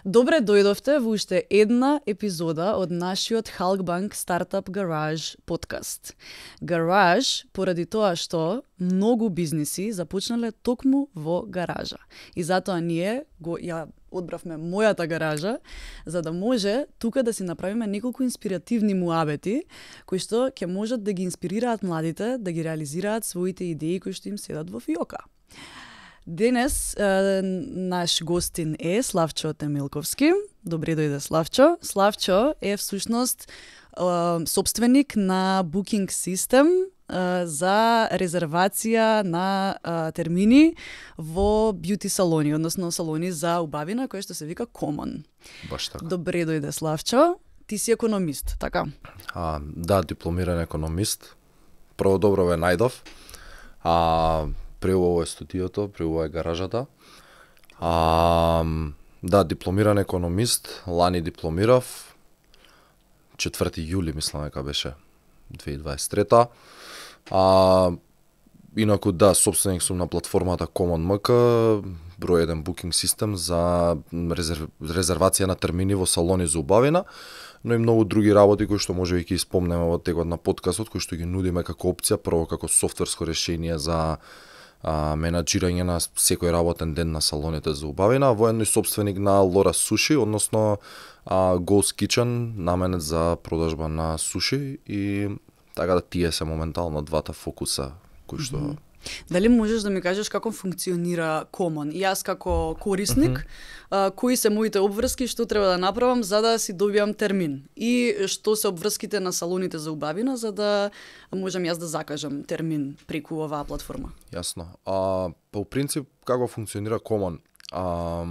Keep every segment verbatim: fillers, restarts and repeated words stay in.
Добре дојдовте во уште една епизода од нашиот Halkbank Startup Garage подкаст. Garage поради тоа што многу бизниси започнале токму во гаража. И затоа ние го ја одбравме мојата гаража, за да може тука да си направиме неколку инспиративни муабети, кои што ќе можат да ги инспирираат младите да ги реализираат своите идеи кои што им седат во фиока. Денес е, наш гостин е Славчо Темилковски. Добре дојде, Славчо. Славчо е всушност е, собственик на Booking System е, за резервација на е, термини во бјути салони, односно салони за убавина, кој што се вика Common. Баш така. Добре дојде, Славчо. Ти си економист, така? А, да, дипломиран економист. Прво добро ве најдов. А При ово е студиото, при ово е гаражата. А, да, дипломиран економист, лани дипломирав, четврти јули мислам дека беше две илјади дваесет и трета. А, инаку да, собственик сум на платформата Common ем ка, број еден Booking System за резерв... резервација на термини во салони за убавина, но и многу други работи кои што може да ги спомнеме во текот на подкастот, кои што ги нудиме како опција, прво како софтверско решение за а, менаџирање на секој работен ден на салоните за убавина, воедно и собственик на Лора Суши, односно а, Ghost Kitchen, наменет за продажба на суши, и така да тие се моментално двата фокуса кои што mm-hmm. Дали можеш да ми кажеш како функционира Common? И јас како корисник, mm-hmm. а, кои се моите обврски, што треба да направам за да си добијам термин? И што се обврските на салоните за убавина за да можам јас да закажам термин преку оваа платформа? Јасно. А, по принцип, како функционира Common? А,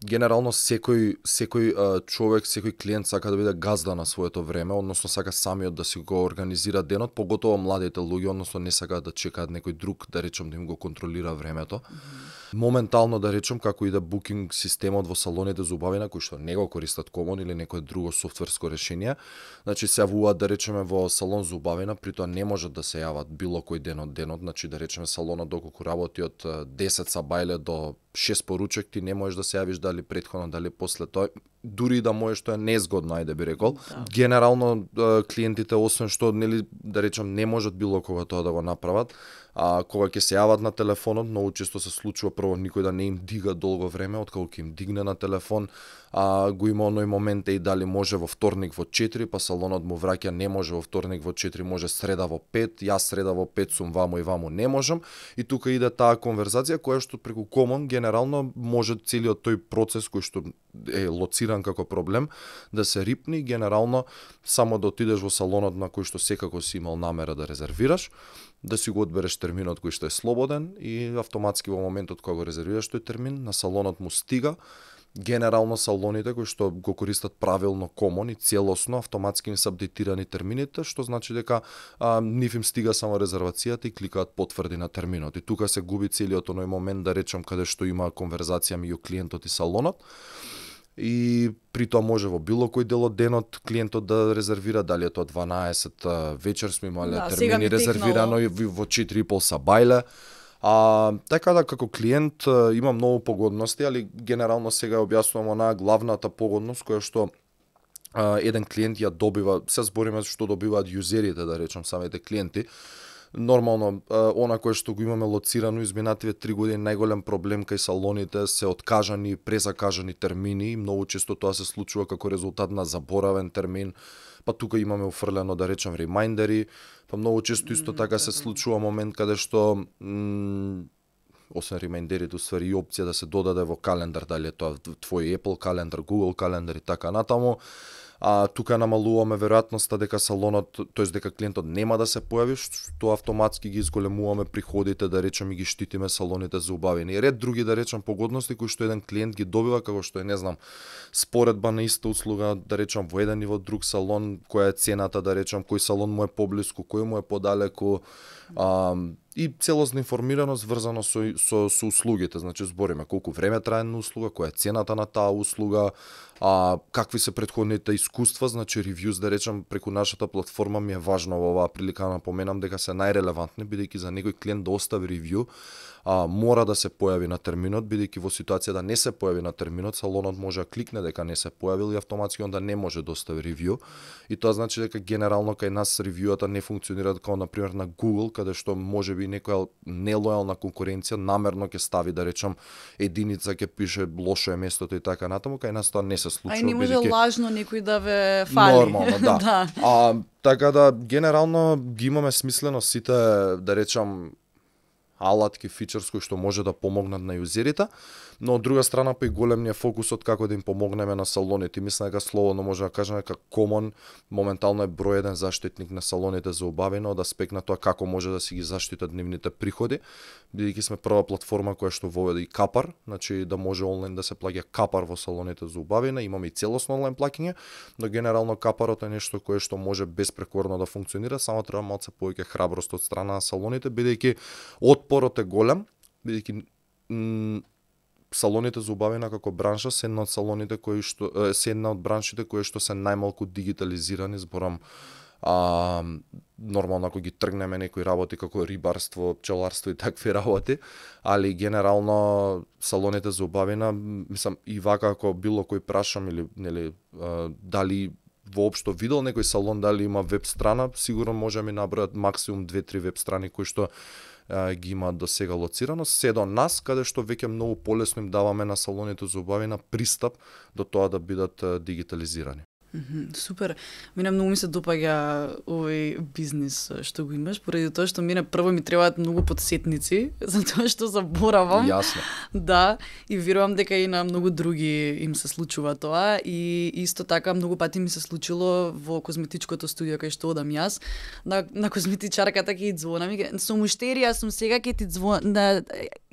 генерално секој секој а, човек, секој клиент сака да биде газда на своето време, односно сака самиот да си го организира денот, поготово младите луѓе, односно не сакаат да чекаат некој друг, да речем, да им го контролира времето. Mm-hmm. Моментално, да речем, како и да букинг системот во салоните за убавина, кои што не го користат Common или некое друго софтверско решение, значи се јавуваат, да речеме, во салон за убавина, при тоа не можат да се јават било кој ден од денот, значи да речеме салонот доколку работи од десет сабајле до шест поручек, ти не можеш да се јавиш дали претходно, дали после тоа, дури да можеш, тоа е незгодно, ајде би рекол. Да. Генерално клиентите, освен што, нели, да речем, не можат било кога тоа да го направат, а кога ќе се јават на телефонот, многу често се случува прво никој да не им дига долго време, откако ќе им дигне на телефон, а го има оној момент и дали може во вторник во четири, па салонот му враќа не може во вторник во четири, може среда во пет, јас среда во пет сум ваму и ваму не можам, и тука иде таа конверзација која што преку Common генерално може целиот тој процес кој што е лоциран како проблем да се рипни, генерално само да отидеш во салонот на кој што секако си имал намера да резервираш, да си го одбереш терминот кој што е слободен и автоматски во моментот кога го резервираш тој термин, на салонот му стига. Генерално салоните кои што го користат правилно Common и целосно автоматски им се апдейтирани термините, што значи дека а, нив им стига само резервацијата и кликаат потврди на терминот. И тука се губи целиот оној момент, да речем, каде што има конверзација меѓу клиентот и салонот. И при тоа може во било кој дел од денот клиентот да резервира, дали е тоа дванаесет вечер сме имале да, термини резервирано и во четири и пол сабајле. А, така да како клиент има многу погодности, али генерално сега објаснувам онаа главната погодност која што а, еден клиент ја добива, се збориме што добиваат јузерите, да речем, самите клиенти. Нормално, она кое што го имаме лоцирано изминативе три години, најголем проблем кај салоните се откажани и презакажани термини, и многу често тоа се случува како резултат на заборавен термин, па тука имаме уфрлено, да речем, ремајндери, па многу често исто така се случува момент каде што м- освен ремајндерите, уствари и опција да се додаде во календар, дали е тоа твој Apple календар, Google календар и така натаму. А тука намалуваме веројатноста дека салонот, тоест дека клиентот нема да се појави, што автоматски ги изголемуваме приходите, да речем, и ги штитиме салоните за убавини. И ред други, да речем, погодности кои што еден клиент ги добива, како што е, не знам, споредба на иста услуга, да речем, во еден и во друг салон, која е цената, да речем, кој салон му е поблиску, кој му е подалеку, а, и целосна информираност врзано со, со, со услугите, значи збориме колку време трае на услуга, која е цената на таа услуга, а, какви се претходните искуства, значи ревјуз, да речем, преку нашата платформа ми е важно во оваа прилика да напоменам дека се најрелевантни, бидејќи за некој клиент да остави ревју, а, мора да се појави на терминот, бидејќи во ситуација да не се појави на терминот, салонот може да кликне дека не се појавил и автоматски онда не може да остави ревју. И тоа значи дека генерално кај нас ревјуата не функционираат како на пример на Google, каде што можеби некоја нелојална конкуренција намерно ќе стави да речам единица, ќе пише лошо е местото и така натаму, кај нас тоа не се случува. А и не може бидејќи... лажно некој да ве фали. Нормално, да. да. А, така да генерално ги имаме смислено сите, да речам, алатки, фичерс кои што може да помогнат на јузерите, но од друга страна па и голем ни е фокусот како да им помогнеме на салоните. Мислам дека слободно може да кажеме дека Common моментално е број еден заштитник на салоните за убавина од аспект на тоа како може да си ги заштитат нивните приходи, бидејќи сме прва платформа која што воведе и капар, значи да може онлайн да се плаќа капар во салоните за убавина, имаме и целосно онлайн плаќање, но генерално капарот е нешто кое што може безпрекорно да функционира, само треба малце повеќе храброст од страна на салоните, бидејќи отпорот е голем, бидејќи м- салоните за убавина како бранша се една од салоните кои што се една од браншите кои што се најмалку дигитализирани, зборам а, нормално ако ги тргнеме некои работи како рибарство, пчеларство и такви работи, али генерално салоните за убавина, мислам и вака ако било кој прашам или нели а, дали воопшто видел некој салон дали има веб страна, сигурно може ми набројат максимум две-три веб страни кои што ги имаат до сега лоцирано, се до нас, каде што веќе многу полесно им даваме на салоните за убавина пристап до тоа да бидат дигитализирани. Mm-hmm, супер. Мене многу ми се допаѓа овој бизнис што го имаш, поради тоа што мене прво ми требаат многу подсетници, затоа што заборавам. Јасно. Да, и верувам дека и на многу други им се случува тоа и исто така многу пати ми се случило во козметичкото студио кај што одам јас, на, на козметичарката ќе и звонам и ке, сум уштерија, сум сега ќе ти звонам, да,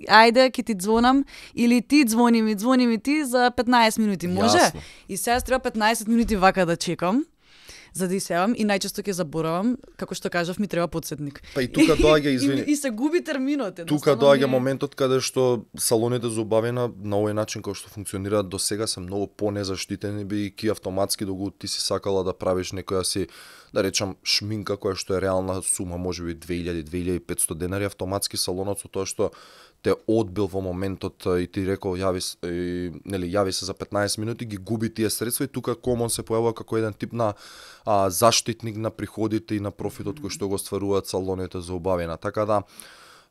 ајде ќе ти звонам или ти звони ми, звони ми ти за петнаесет минути, може? Јасно. И сега треба петнаесет минути вака да чекам, за да исевам и најчесто ќе заборавам, како што кажав, ми треба подсетник. Па и тука доаѓа, извини. И, и, и се губи терминот. Тука доаѓа моментот каде што салоните за убавина на овој начин кој што функционираат до сега се многу понезаштитени, бидејќи автоматски доколку ти си сакала да правиш некоја си, да речам, шминка која што е реална сума, можеби две илјади до две илјади и петстотини денари, автоматски салонот со тоа што те одбил во моментот и ти рекол јави и, нели јави се за петнаесет минути, ги губи тие средства и тука Common се појавува како еден тип на а, заштитник на приходите и на профитот кој што го стваруваат салоните за убавина. Така да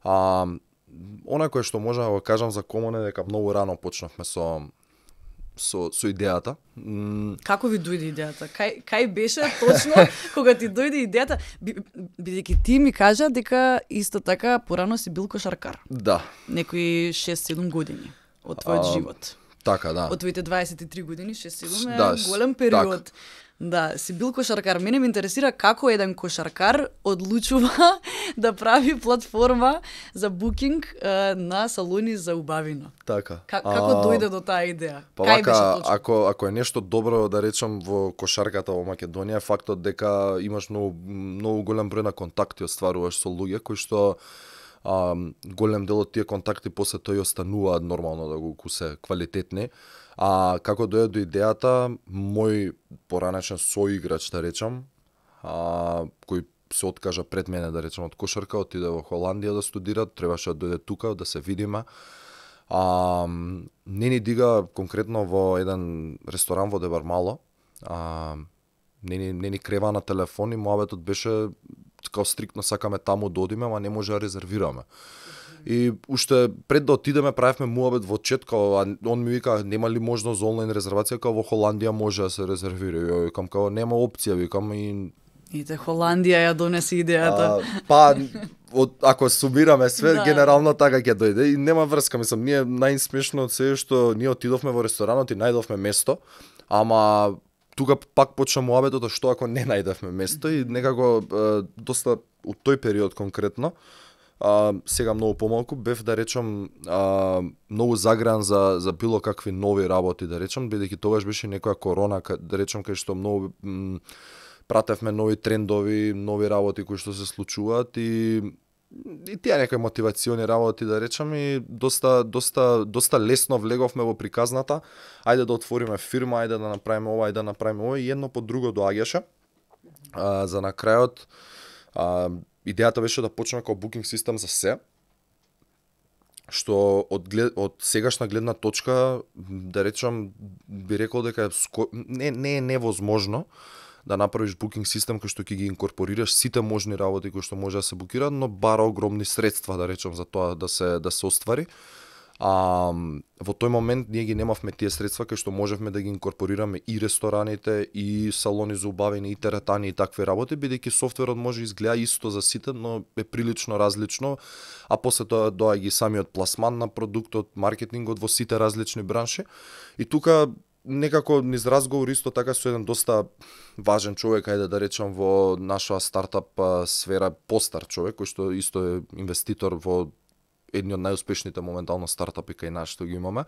а, она кое што можам да го кажам за Common е дека многу рано почнавме со со со идејата. М... Како ви дојде идејата? Кај кај беше точно кога ти дојде идејата? Бидејќи ти ми кажа дека исто така порано си бил кошаркар. Да. Некои шест-седум години од твојот а, живот. Така, да. Од твоите дваесет и три години, шест-седум е да, голем период. Так. Да, си бил кошаркар. Мене ме интересира како еден кошаркар одлучува да прави платформа за букинг е, на салони за убавина. Така. К- како а, дојде до таа идеја? Па Кај беше вака, точно? ако ако е нешто добро да речам во кошарката во Македонија, фактот дека имаш многу многу голем број на контакти остваруваш со луѓе кои што а, голем дел од тие контакти после тоа и остануваат нормално да го кусе квалитетни. А како дојде до идејата, мој поранешен соиграч, да речам, а, кој се откажа пред мене, да речам, од кошарка, отиде во Холандија да студира, требаше да дојде тука, да се видиме. А, не ни дига конкретно во еден ресторан во Дебармало, а, не ни, не ни крева на телефон и муабетот беше као стриктно сакаме таму да одиме, ама не може да резервираме. И уште пред да отидеме правевме муабет во чет, као он ми вика нема ли можност за онлайн резервација, као во Холандија може да се резервира. Ја викам као нема опција, викам и Ите Холандија ја донеси идејата. А, па од, ако сумираме све, да. Генерално така ќе дојде и нема врска, мислам, ние најсмешно од се што ние отидовме во ресторанот и најдовме место, ама тука пак почна муабетот што ако не најдовме место и некако е, доста од тој период конкретно. А, сега многу помалку бев да речам а, многу загран за за било какви нови работи да речам, бидејќи тогаш беше некоја корона, да речам кај што многу м, пратевме нови трендови, нови работи кои што се случуваат и и тие некои мотивациони работи да речам и доста доста доста лесно влеговме во приказната. Ајде да отвориме фирма, ајде да направиме ова, ајде да направиме ова и едно по друго доаѓаше. А, за на крајот а, идејата беше да почнеме како букинг систем за се. што од, глед, од сегашна гледна точка, да речам, би рекол дека ско... не, не е невозможно да направиш букинг систем кој што ќе ги инкорпорираш сите можни работи кои што може да се букираат, но бара огромни средства, да речам, за тоа да се да се оствари. А, во тој момент ние ги немавме тие средства кај што можевме да ги инкорпорираме и рестораните, и салони за убавини, и теретани и такви работи, бидејќи софтверот може изгледа исто за сите, но е прилично различно, а после тоа доаѓа и самиот пласман на продуктот, маркетингот во сите различни бранши. И тука некако низ разговор исто така со еден доста важен човек, ајде да речам во нашава стартап сфера, постар човек, кој што исто е инвеститор во едни од најуспешните моментално стартапи кај нас што ги имаме.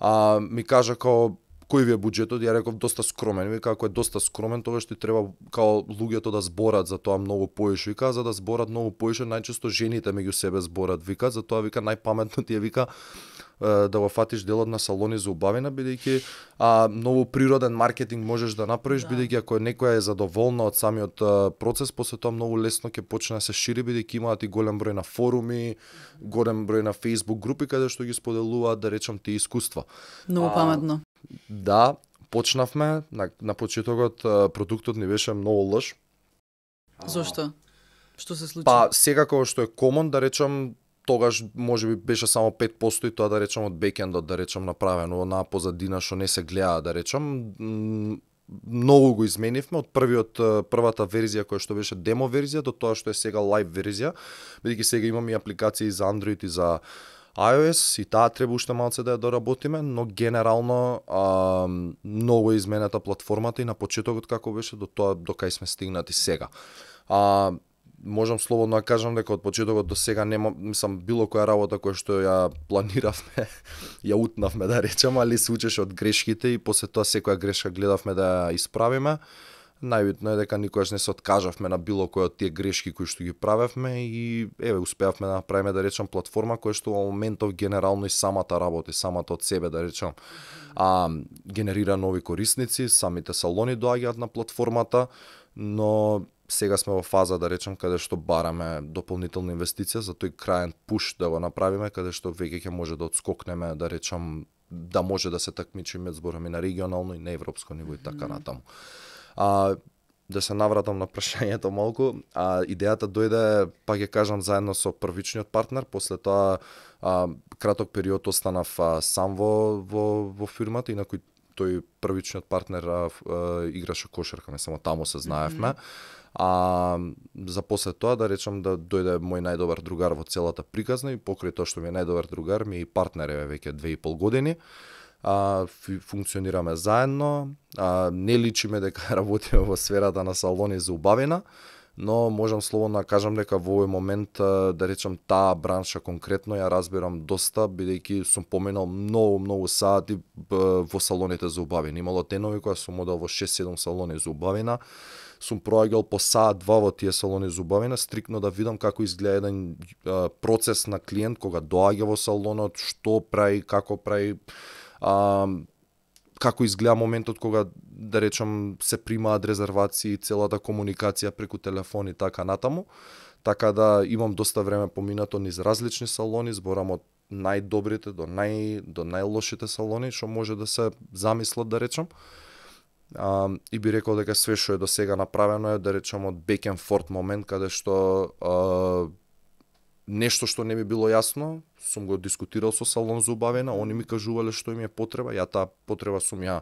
А, ми кажа као кој ви е буџетот? Ја реков доста скромен. Вика, ако е доста скромен, тогаш ти треба као луѓето да зборат за тоа многу поише. Вика, за да зборат многу поише, најчесто жените меѓу себе зборат. Вика, за тоа вика најпаметно ти е вика да го фатиш делот на салони за убавина, бидејќи а, многу природен маркетинг можеш да направиш, да. Бидејќи ако некоја е задоволна од самиот а, процес, после тоа многу лесно ќе почне да се шири, бидејќи имаат и голем број на форуми, голем број на Facebook групи каде што ги споделуваат, да речам, тие искуства. Многу паметно. А, да, почнавме, на, на почетокот продуктот ни беше многу лош. Зошто? Што се случи? Па, сега кога што е комон, да речам, тогаш може би беше само пет проценти и тоа да речам од бекендот, да речам направено на позадина што не се гледа, да речам. Многу го изменивме од првиот првата верзија која што беше демо верзија до тоа што е сега лайв верзија, бидејќи сега имаме и апликации за Android и за iOS и таа треба уште малце да ја доработиме, но генерално а, многу е изменета платформата и на почетокот како беше до тоа до кај сме стигнати сега. А, можам слободно да кажам дека од почетокот до сега нема, мислам, било која работа која што ја планиравме, ја утнавме, да речем, али се учеше од грешките и после тоа секоја грешка гледавме да ја исправиме. Најбитно е дека никогаш не се откажавме на било кој од тие грешки кои што ги правевме и еве успеавме да направиме, да речем, платформа која што во моментов генерално и самата работи, самата од себе, да речем, а, генерира нови корисници, самите салони доаѓаат на платформата, но сега сме во фаза, да речем, каде што бараме дополнителна инвестиција за тој краен пуш да го направиме, каде што веќе ќе може да одскокнеме, да речем, да може да се такмичиме, збораме на регионално и на европско ниво и така натаму. А, да се навратам на прашањето малку, а, идејата дојде, па ќе кажам, заедно со првичниот партнер, после тоа а, краток период останав а, сам во, во, во фирмата, инаку тој првичниот партнер а, а, играше кошарка, не само таму се знаевме. Mm-hmm. А за после тоа, да речам, да дојде мој најдобар другар во целата приказна и покрај тоа што ми е најдобар другар, ми е и партнер е веќе две и пол години. А, функционираме заедно, а, не личиме дека работиме во сферата на салони за убавина, но можам слободно да кажам дека во овој момент, да речам, таа бранша конкретно ја разбирам доста, бидејќи сум поминал многу, многу сати во салоните за убавина. Имало денови кога сум одел во шест-седум салони за убавина, сум проаѓал по саат два во тие салони за убавина, стрикно да видам како изгледа еден а, процес на клиент кога доаѓа во салонот, што прави, како прави, а, како изгледа моментот кога, да речам, се примаат резервации, целата комуникација преку телефон и така натаму. Така да имам доста време поминато низ различни салони, зборам од најдобрите до нај до најлошите салони што може да се замислат, да речам. Uh, и би рекол дека све што е до сега направено е, да речем, од back and forth момент, каде што uh, нешто што не ми било јасно, сум го дискутирал со салон за убавина, они ми кажувале што им е потреба, ја таа потреба сум ја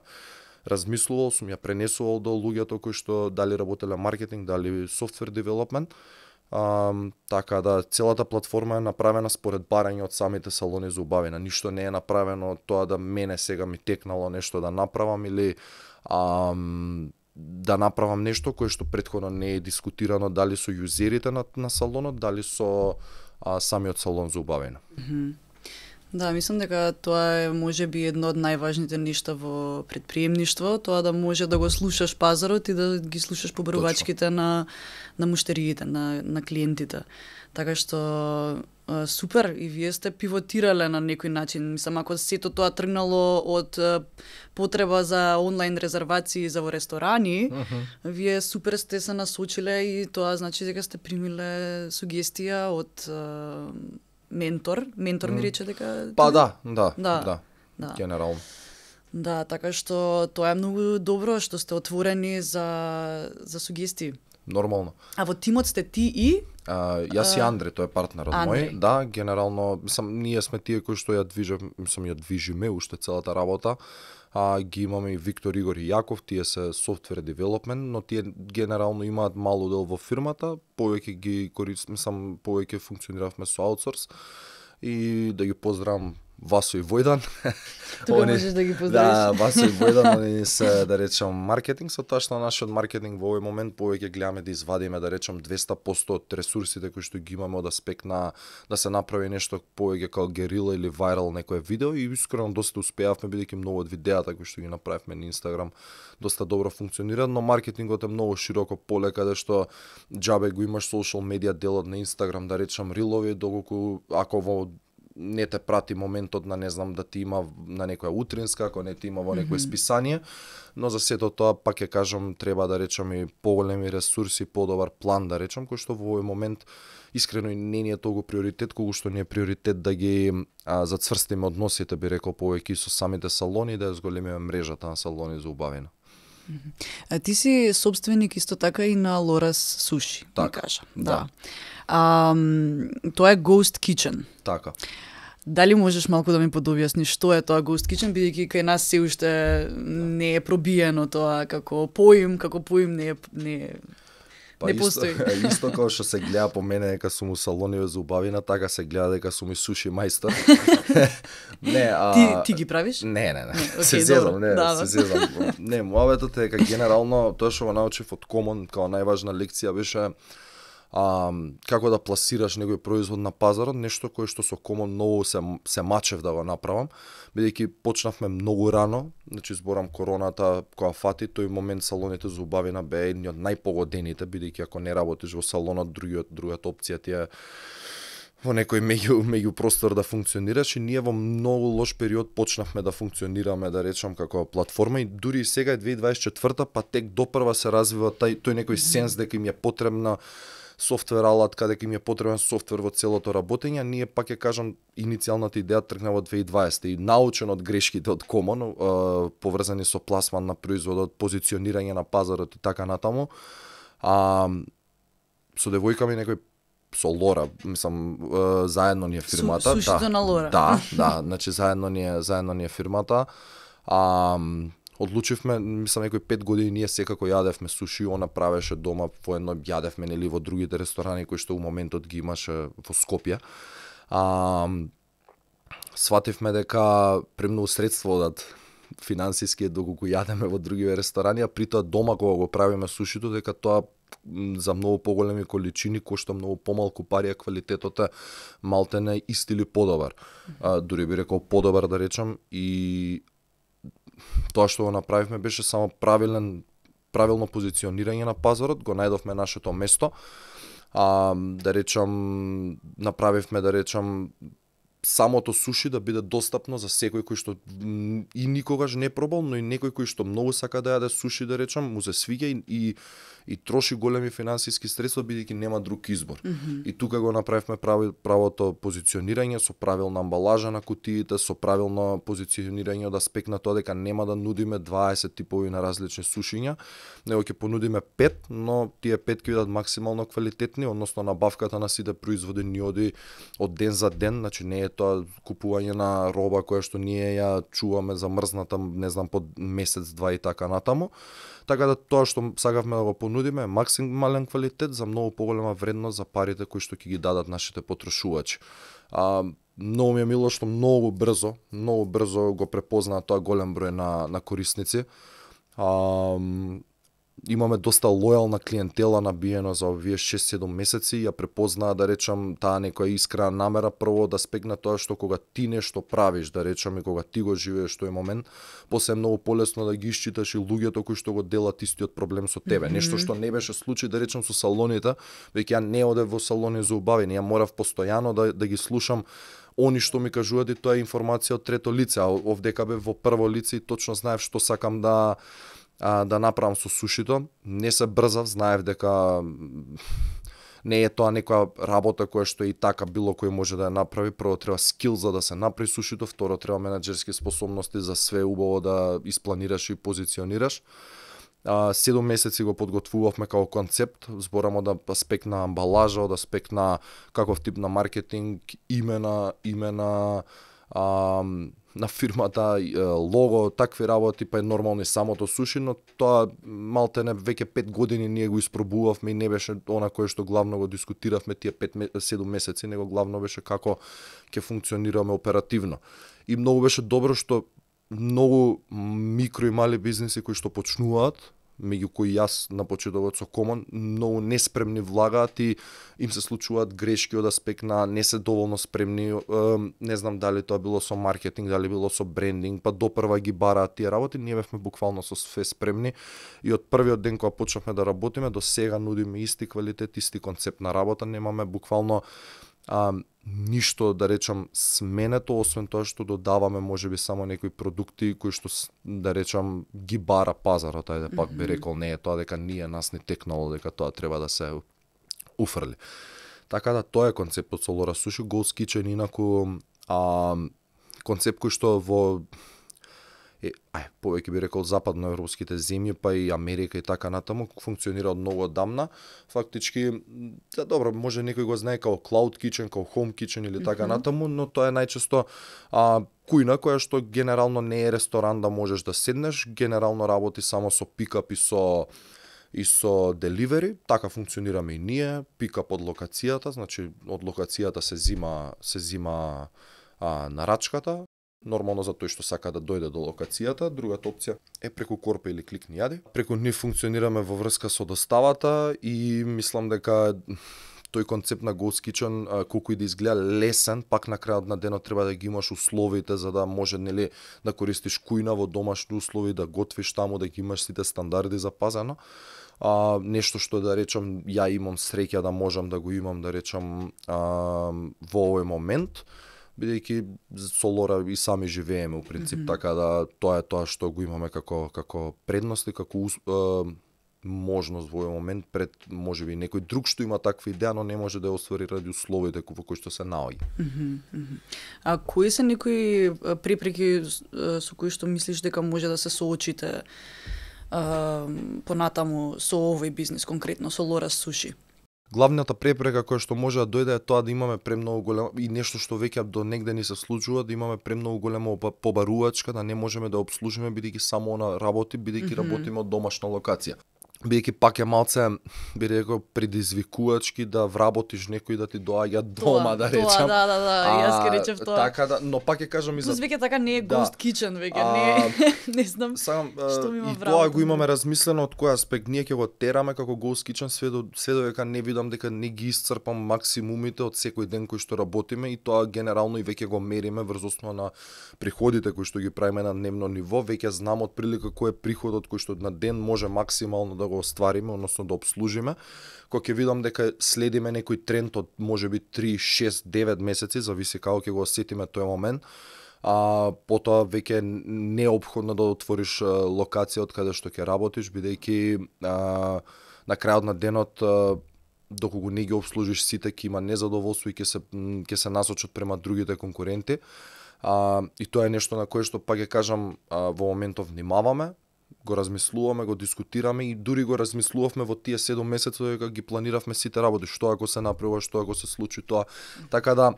размислувал, сум ја пренесувал до луѓето кои што дали работеле маркетинг, дали софтвер девелопмент. Uh, така да целата платформа е направена според барање од самите салони за убавина. Ништо не е направено тоа да мене сега ми текнало нешто да направам или а, да направам нешто кое што претходно не е дискутирано дали со јузерите на, на салонот, дали со а, самиот салон за убавина. Mm-hmm. Да, мислам дека тоа е можеби едно од најважните нешта во предприемништво, тоа да може да го слушаш пазарот и да ги слушаш побарувачките на на муштериите, на на клиентите. Така што супер, и вие сте пивотирале на некој начин. Мислам, ако сето тоа тргнало од потреба за онлайн резервации за во ресторани, uh-huh. вие супер сте се насочиле и тоа значи дека сте примиле сугестија од ментор, ментор ми рече дека Па да, да, Да, да, да. генерално. Да, така што тоа е многу добро што сте отворени за за сугестии. Нормално. А во тимот сте ти и А, јас и Андре, тој е партнер од Андре. мој. Да, генерално, мислам, ние сме тие кои што ја движат, мислам, ја движиме уште целата работа. А, ги имаме и Виктор, Игор и Јаков, тие се software development, но тие генерално имаат мал удел во фирмата, повеќе ги користам, мислам, повеќе функциониравме со аутсорс. И да ги поздравам Васо и Војдан. тука можеш да ги поздравиш. Да, Васо и Војдан, они се, да речем, маркетинг, со тоа што нашиот маркетинг во овој момент повеќе гледаме да извадиме, да речем, двесте проценти од ресурсите кои што ги имаме од аспект на да се направи нешто повеќе како герила или вајрал некое видео, и искрено доста успеавме, бидејќи многу од видеата кои што ги направивме на Инстаграм доста добро функционира, но маркетингот е многу широко поле, каде што џабе го имаш social медија делот на Инстаграм, да речем, рилови, доколку ако во не те прати моментот на, не знам, да ти има на некоја утринска, ако не ти има во некое списание, но за сето тоа, пак ќе кажам, треба да речем и поголеми ресурси, подобар план, да речем, кој што во овој момент искрено и не ни е толку приоритет, колку што ни е приоритет да ги а, зацврстиме односите, би рекол, повеќе со самите салони, да ја зголемиме мрежата на салони за убавина. А ти си собственик исто така и на Лорас Суши, Така, ми кажа. да. Да. А, тоа е Ghost Kitchen. Така. Дали можеш малку да ми подобјасниш што е тоа Ghost Kitchen, бидејќи кај нас се уште не е пробиено тоа како поим, како поим не е не е Па не исто, постои. исто како што се гледа по мене дека сум у салони за убавина, така се гледа дека сум и суши мајстор. Не, а Ти ти ги правиш? Не, не, не. Не, се окей, зезам, добро. не, Да, се да. зезам. Не, муабетот е дека генерално тоа што го научив од Common како најважна лекција беше а, како да пласираш некој производ на пазарот, нешто кое што со Common многу се се мачев да го направам, бидејќи почнавме многу рано, значи зборам короната која фати, тој момент салоните за убавина беа едни од најпогодените, бидејќи ако не работиш во салонот, другиот другата опција ти е во некој меѓу меѓу простор да функционираш, и ние во многу лош период почнавме да функционираме, да речам, како платформа, и дури и сега е две илјади дваесет и четврта, па тек допрва се развива тај тој некој сенс дека им е потребна софтвер алатка, дека им е потребен софтвер во целото работење. Ние, пак ќе кажам, иницијалната идеја тргна во две илјади и дваесета и научен од грешките од Common, е, поврзани со пласман на производот, позиционирање на пазарот и така натаму. А со девојка ми некој со Лора, мислам, е, заедно ни е фирмата. Су- сушито да, на Лора. Да, да, значи заедно ни е заедно ни е фирмата. А одлучивме, мислам, некои пет години ние секако јадевме суши, она правеше дома, воедно јадевме, нели, во другите ресторани кои што у моментот ги имаше во Скопје. А свативме дека премногу средства одат финансиски доколку јадеме во други ресторани, а при тоа дома кога го правиме сушито, дека тоа за многу поголеми количини кошта многу помалку пари, а квалитетот е малтене ист или подобар. А, дури би рекол подобар, да речам, и тоа што го направивме беше само правилен правилно позиционирање на пазарот, го најдовме нашето место. А, да речам, направивме, да речам, самото суши да биде достапно за секој кој што и никогаш не пробал, но и некој кој што многу сака да јаде суши, да речам, му се свиѓа и, и, и троши големи финансиски средства бидејќи нема друг избор. Mm-hmm. И тука го направивме прави, правото позиционирање со правилна амбалажа на кутиите, со правилно позиционирање од аспект на тоа дека нема да нудиме дваесет типови на различни сушиња, него ќе понудиме пет, но тие пет ќе бидат максимално квалитетни, односно набавката на сите производи ни оди од ден за ден, значи не е тоа купување на роба која што ние ја чуваме замрзната, не знам, под месец, два и така натаму. Така да тоа што сакавме да го понудиме е максимален квалитет за многу поголема вредност за парите кои што ќе ги дадат нашите потрошувачи. А, многу ми е мило што многу брзо, многу брзо го препознаа тоа голем број на, на корисници. А, имаме доста лојална клиентела набиено за овие шест-седум месеци, ја препознаа, да речам, таа некоја искрена намера прво да спегна тоа што кога ти нешто правиш, да речам, и кога ти го живееш тој момент, после е многу полесно да ги исчиташ и луѓето кои што го делат истиот проблем со тебе. Mm-hmm. Нешто што не беше случај, да речам, со салоните, веќе ја не одев во салони за убавини, ја морав постојано да, да ги слушам они што ми кажуваат, и тоа е информација од трето лице, а овдека бев во прво лице и точно знаев што сакам да а, да направам со сушито. Не се брзав, знаев дека Не е тоа некоја работа која што и така било кој може да ја направи. Прво треба скил за да се направи сушито, второ треба менаџерски способности за све убаво да испланираш и позиционираш. А, седум месеци го подготвувавме како концепт, зборам од аспект на амбалажа, од аспект на каков тип на маркетинг, имена, имена, а, на фирмата, лого, такви работи, па е нормално и самото суши, но тоа малтене веќе пет години ние го испробувавме и не беше она кое што главно го дискутиравме тие пет седум месеци, него главно беше како ќе функционираме оперативно. И многу беше добро што многу микро и мали бизниси кои што почнуваат, меѓу кои јас на почетокот со Common, многу неспремни влагаат и им се случуваат грешки од аспект на не се доволно спремни, не знам дали тоа било со маркетинг, дали било со брендинг, па допрва ги бараат тие работи, ние бевме буквално со све спремни и од првиот ден кога почнавме да работиме до сега нудиме исти квалитет, исти концепт на работа, немаме буквално а, ништо да речам сменето, освен тоа што додаваме можеби само некои продукти кои што да речам ги бара пазарот, ајде пак би рекол, не е тоа дека ние нас не текнало дека тоа треба да се уфрли. Така да тоа е концептот со Лора Суши. Ghost Kitchen инаку а, концепт кој што во е, ај, повеќе би рекол западноевропските земји, па и Америка и така натаму, функционира од многу одамна. Фактички, да, добро, може некој го знае како Cloud Kitchen, како Home Kitchen или така mm-hmm. натаму, но тоа е најчесто а, кујна која што генерално не е ресторан да можеш да седнеш, генерално работи само со пикап и со и со деливери, така функционираме и ние, пикап од локацијата, значи од локацијата се зима се зима а, нарачката. Нормално за тој што сака да дојде до локацијата, другата опција е преку Корпа или Клик ни јади. Преку нив функционираме во врска со доставата и мислам дека тој концепт на Ghost Kitchen, колку и да изгледа лесен, пак на крајот на денот треба да ги имаш условите за да може нели да користиш кујна во домашни услови, да готвиш таму, да ги имаш сите стандарди запазено. А, нешто што да речам ја имам среќа да можам да го имам да речам а, во овој момент, бидејќи со Лора и сами живееме у принцип, mm-hmm. така да тоа е тоа што го имаме како како предност и како е, можност во овој момент пред можеби некој друг што има таква идеја, но не може да ја оствари ради условите во кои што се наоѓа. Mm-hmm. Mm-hmm. А кои се некои препреки со кои што мислиш дека може да се соочите а, понатаму со овој бизнис, конкретно со Лора Суши? Главната препрека која што може да дојде е тоа да имаме премногу големо и нешто што веќе до негде ни се случува, да имаме премногу големо побарувачка, да не можеме да обслужиме бидејќи само она работи, бидејќи mm-hmm. работиме од домашна локација. Бидејќи пак е малце, би рекол, предизвикувачки да вработиш некој да ти доаѓа дома, тоа, да речам. Тоа, да, да, да, а, јас ке речев тоа. Така да, но пак ќе кажам и за... Плюс веќе така не е да. Ghost Kitchen, веќе а, не не знам сам, што ми има и вработено. тоа го имаме размислено од кој аспект. Ние ќе го тераме како Ghost Kitchen све до све додека не видам дека не ги исцрпам максимумите од секој ден кој што работиме и тоа генерално и веќе го мериме врз основа на приходите кои што ги правиме на дневно ниво. Веќе знам од прилика кој е приходот кој што на ден може максимално да го оствариме, да обслужиме, кога ќе видам дека следиме некој тренд од можеби три, шест, девет месеци, зависи како ќе го осетиме тој момент, а потоа веќе неопходно да отвориш локација од каде што ќе работиш, бидејќи а, на крајот на денот а, доколку не ги обслужиш сите, ќе има незадоволство и ќе се ќе се насочат према другите конкуренти. А, и тоа е нешто на кое што пак ќе кажам а, во моментов внимаваме, го размислуваме, го дискутираме и дури го размислувавме во тие седум месеци дека ги планиравме сите работи, што ако се направи, што ако се случи тоа. Така да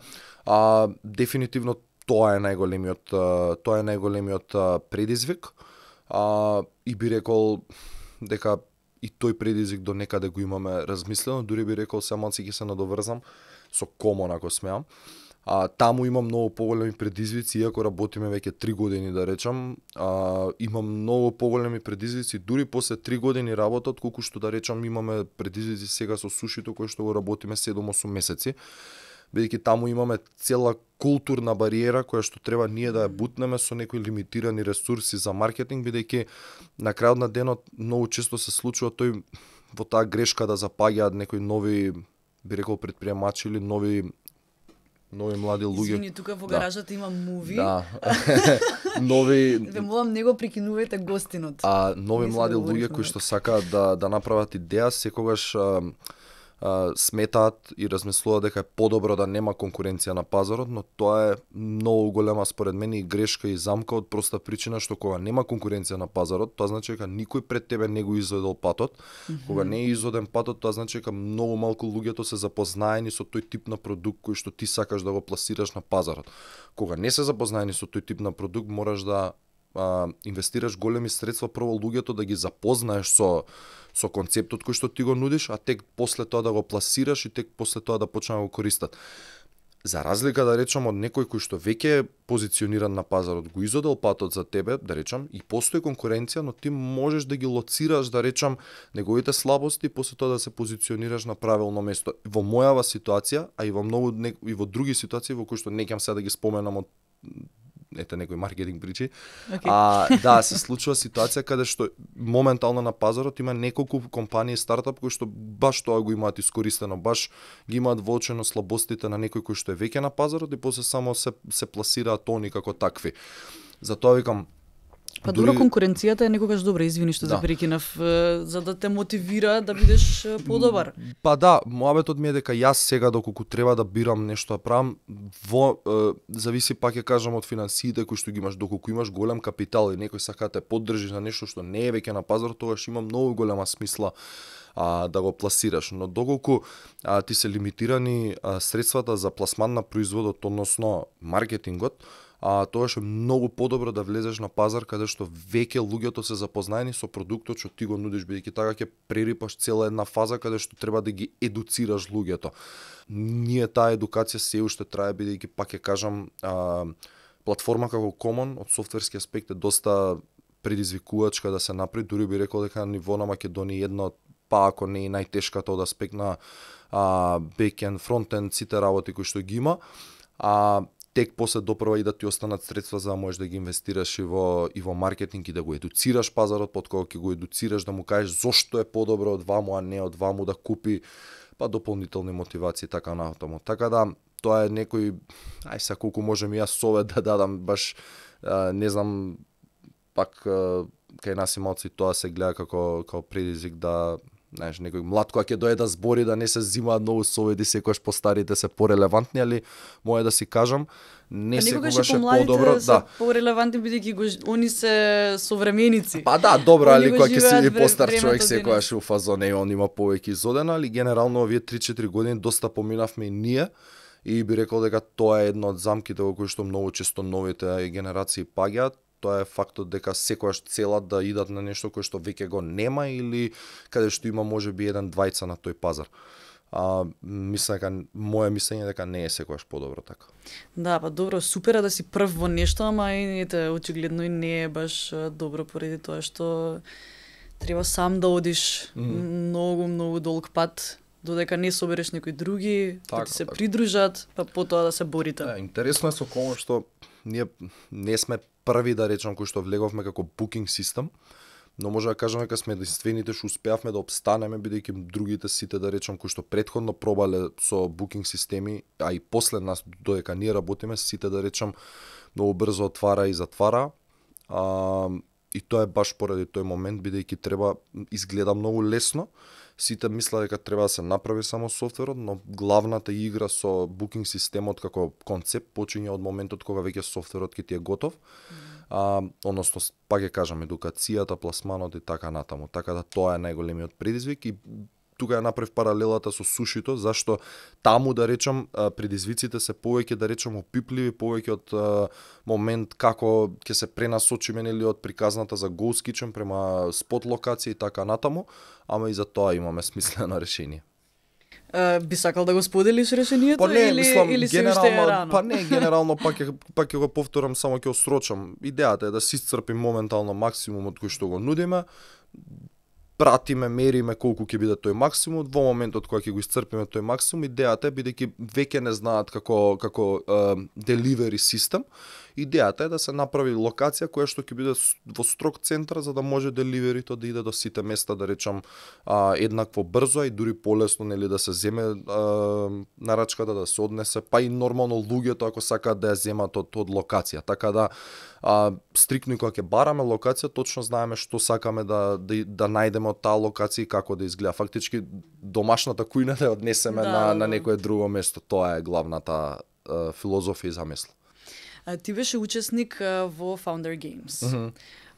а, дефинитивно тоа е најголемиот тоа е најголемиот предизвик. А, и би рекол дека и тој предизвик до некаде го имаме размислено, дури би рекол се малци ќе се надоврзам со Common ако смеам. А, таму имам многу поголеми предизвици, иако работиме веќе три години да речам, а, имам многу поголеми предизвици дури после три години работа, отколку што да речам имаме предизвици сега со сушито кој што го работиме седум-осум месеци, бидејќи таму имаме цела културна бариера која што треба ние да ја бутнеме со некои лимитирани ресурси за маркетинг, бидејќи на крајот на денот многу често се случува тој во таа грешка да запаѓаат некои нови, би рекол, предприемачи или нови нови млади луѓе. Извини, тука во гаражата да. Има муви. Да. нови Ве молам, не го прекинувате гостинот. А нови Мислам млади да луѓе кои што сакаат да да направат идеја, секогаш а, а, сметаат и размислуваат дека е подобро да нема конкуренција на пазарот, но тоа е многу голема според мене и грешка и замка од проста причина што кога нема конкуренција на пазарот, тоа значи дека никој пред тебе не го изодел патот. Mm-hmm. Кога не е изоден патот, тоа значи дека многу малку луѓето се запознаени со тој тип на продукт кој што ти сакаш да го пласираш на пазарот. Кога не се запознаени со тој тип на продукт, мораш да а, инвестираш големи средства прво луѓето да ги запознаеш со со концептот кој што ти го нудиш, а тек после тоа да го пласираш и тек после тоа да почнат да го користат. За разлика да речам од некој кој што веќе е позициониран на пазарот, го изодел патот за тебе, да речам, и постои конкуренција, но ти можеш да ги лоцираш, да речам, неговите слабости и после тоа да се позиционираш на правилно место. Во мојава ситуација, а и во многу и во други ситуации во кои што не ќам сега да ги споменам од ете некои маркетинг причи. Okay. А да, се случува ситуација каде што моментално на пазарот има неколку компании стартап кои што баш тоа го имаат искористено, баш ги имаат воочено слабостите на некој кој што е веќе на пазарот и после само се се пласираат они како такви. Затоа викам Па дури... добро, конкуренцијата е некогаш добра, извини што да. Се прекинав, за да те мотивира да бидеш подобар. Па да, мојабетот ми е дека јас сега доколку треба да бирам нешто да правам, во е, зависи пак ќе кажам од финансиите кои што ги имаш, доколку имаш голем капитал и некој сака да те поддржи на нешто што не е веќе на пазарот, тогаш има многу голема смисла а, да го пласираш, но доколку а, ти се лимитирани а, средствата за пласман на производот, односно маркетингот, а тогаш е многу подобро да влезеш на пазар каде што веќе луѓето се запознаени со продуктот што ти го нудиш, бидејќи така ќе прерипаш цела една фаза каде што треба да ги едуцираш луѓето. Ние таа едукација се уште трае, бидејќи пак ќе кажам, а, платформа како Common од софтверски аспект е доста предизвикувачка да се направи, дури би рекол дека на ниво на Македонија една од, па ако не и најтешката од аспект на а, бекенд, фронтенд, сите работи кои што ги има. А тек после допрва и да ти останат средства за да можеш да ги инвестираш и во и во маркетинг и да го едуцираш пазарот, под кога ќе го едуцираш да му кажеш зошто е подобро од ваму, а не од ваму да купи, па дополнителни мотивации така натаму. Така да тоа е некој, ај са колку можем и јас совет да дадам, баш а, не знам, пак а, кај нас ималци тоа се гледа како како предизвик да знаеш, некој млад кој ќе дое да збори, да не се зимаат многу совети, секогаш постарите се порелевантни, али може да си кажам, не секогаш е подобро, да. Порелевантни бидејќи го они се современици. Па да, добро, али кога ќе си постар човек секогаш у фазон е, он има повеќе изодена, али генерално овие три-четири години доста поминавме и ние и би рекол дека тоа е едно од замките во кои што многу често новите генерации паѓаат. Тоа е фактот дека секојаш целат да идат на нешто кое што веќе го нема или каде што има можеби еден двајца на тој пазар. А, мислам дека моје мислење дека не е секојаш подобро така. Да, па добро, супер е да си прв во нешто, ама и ете очигледно и не е баш добро поради тоа што треба сам да одиш mm. многу многу долг пат додека не собереш некои други, така, да ти се така. Придружат, па потоа да се борите. Да, интересно е со кому што ние не сме први да речам кои што влеговме како booking систем, но може да кажеме дека сме единствените што успеавме да обстанеме, бидејќи другите сите да речам кои што претходно пробале со booking системи, а и после нас додека ние работиме, сите да речам многу брзо отвара и затвара. А, и тоа е баш поради тој момент, бидејќи треба изгледа многу лесно. Сите мисла дека треба да се направи само софтверот, но главната игра со booking системот како концепт почиња од моментот кога веќе софтверот ќе ти е готов. Mm. А, односно, пак ќе кажам, едукацијата, пласманот и така натаму. Така да тоа е најголемиот предизвик и тука ја направив паралелата со сушито, зашто таму да речам предизвиците се повеќе да речам опипливи, повеќе од момент како ќе се пренасочиме нели од приказната за Ghost Kitchen према спот локација и така натаму, ама и за тоа имаме смислено решение. Uh, би сакал да го споделиш решението па не, или мислам, или се уште е рано? Па не, генерално пак ќе пак ќе го повторам, само ќе осрочам. Идејата е да си исцрпим моментално максимумот кој што го нудиме. Пратиме, мериме колку ќе биде тој максимум, во моментот кога ќе го исцрпиме тој максимум, идејата е бидејќи веќе не знаат како како деливери систем, идејата е да се направи локација која што ќе биде во строг центар за да може деливерито да иде до сите места, да речам а, еднакво брзо и дури полесно нели да се земе а, нарачката, да се однесе, па и нормално луѓето ако сакаат да ја земат од од локација. Така да а, стрикно кога ќе бараме локација, точно знаеме што сакаме да да, да најдеме од таа локација и како да изгледа. Фактички домашната кујна да ја однесеме Да, на да. на некое друго место. Тоа е главната а, филозофија и замисла. А, ти беше учесник а, во Founder Games. Мгм.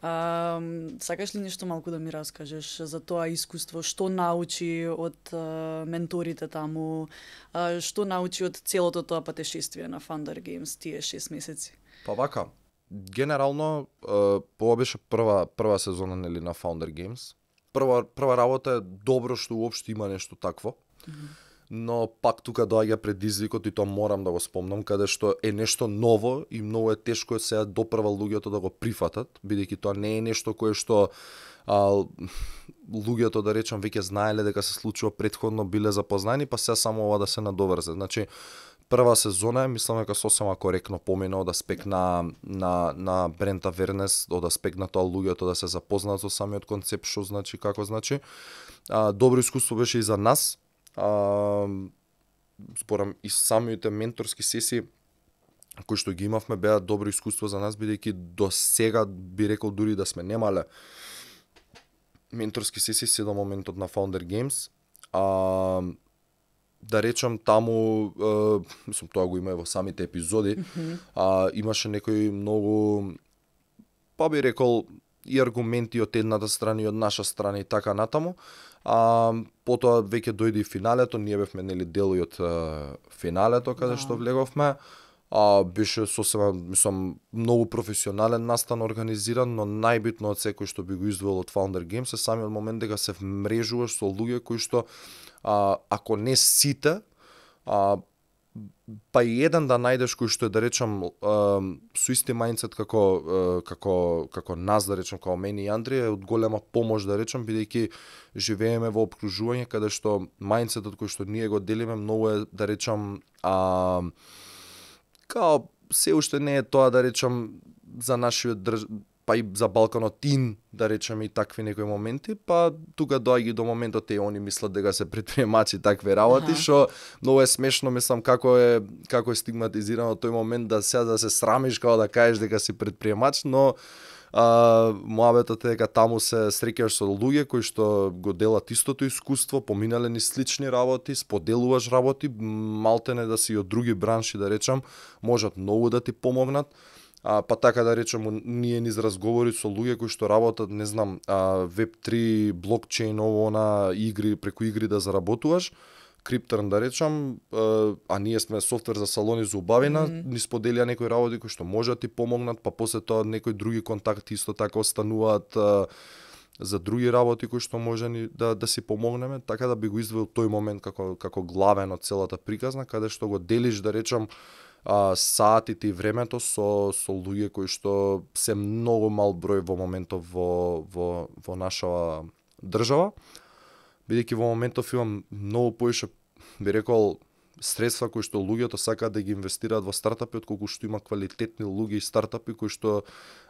А, сакаш ли нешто малку да ми раскажеш за тоа искуство, што научи од а, менторите таму, а, што научи од целото тоа патешествие на Founder Games тие шест месеци? Па вака, генерално ова беше прва прва сезона нели на Founder Games. Прва прва работа е добро што уопште има нешто такво. Mm-hmm. Но пак тука доаѓа предизвикот и тоа морам да го спомнам, каде што е нешто ново и многу е тешко сега допрва луѓето да го прифатат, бидејќи тоа не е нешто кое што а, луѓето да речам веќе знаеле дека се случува претходно, биле запознани, па сега само ова да се надоврзе. Значи прва сезона е, мислам дека сосема коректно помина од аспект на на на бренд awareness, од аспект на тоа луѓето да се запознаат со самиот концепт, што значи, како значи. А, добро искуство беше и за нас. А, спорам и самите менторски сесии кои што ги имавме беа добро искуство за нас, бидејќи до сега би рекол дури да сме немале менторски сесии се до моментот на Founder Games. А, да речам таму, е, мислам тоа го има и во самите епизоди, Mm-hmm. а, имаше некои многу, па би рекол, и аргументи од едната страна и од наша страна и така натаму. А, потоа веќе дојде и финалето, ние бевме нели дел и од е, финалето каде Да. што влеговме. А, беше сосема, мислам, многу професионален настан организиран, но најбитно од секој што би го издвоил од Founder Games е самиот момент дека се вмрежуваш со луѓе кои што а, ако не сите, а, па и еден да најдеш кој што е да речам а, со исти мајндсет како а, како како нас да речам, како мене и Андрија, е од голема помош да речам, бидејќи живееме во опкружување каде што мајндсетот кој што ние го делиме многу е да речам а, као се уште не е тоа да речам за нашиот држ... па и за Балканот ин, да речеме и такви некои моменти, па тука доаѓа до моментот е они мислат дека се предприемачи такви работи, Аха. што многу е смешно, мислам како е како е стигматизирано тој момент да сега да се срамиш како да кажеш дека си предприемач, но а, муабетот е дека таму се среќаш со луѓе кои што го делат истото искуство, поминале ни слични работи, споделуваш работи, малтене да си од други бранши да речам, можат многу да ти помогнат. А, па така да речем, ние низ разговори со луѓе кои што работат, не знам, а, веб три, блокчейн, ово на игри, преку игри да заработуваш, Криптърн да речам, а, а ние сме софтвер за салони за убавина, Мгм. ни споделија некои работи кои што може да ти помогнат, па после тоа некои други контакти исто така остануваат а, за други работи кои што може ни да да си помогнеме, така да би го издвоил тој момент како како главен од целата приказна, каде што го делиш да речам а, саатите и времето со со луѓе кои што се многу мал број во моментов во во во наша држава, бидејќи во моментов имам многу поише, би рекол, средства кои што луѓето сакаат да ги инвестираат во стартапи, отколку што има квалитетни луѓе и стартапи кои што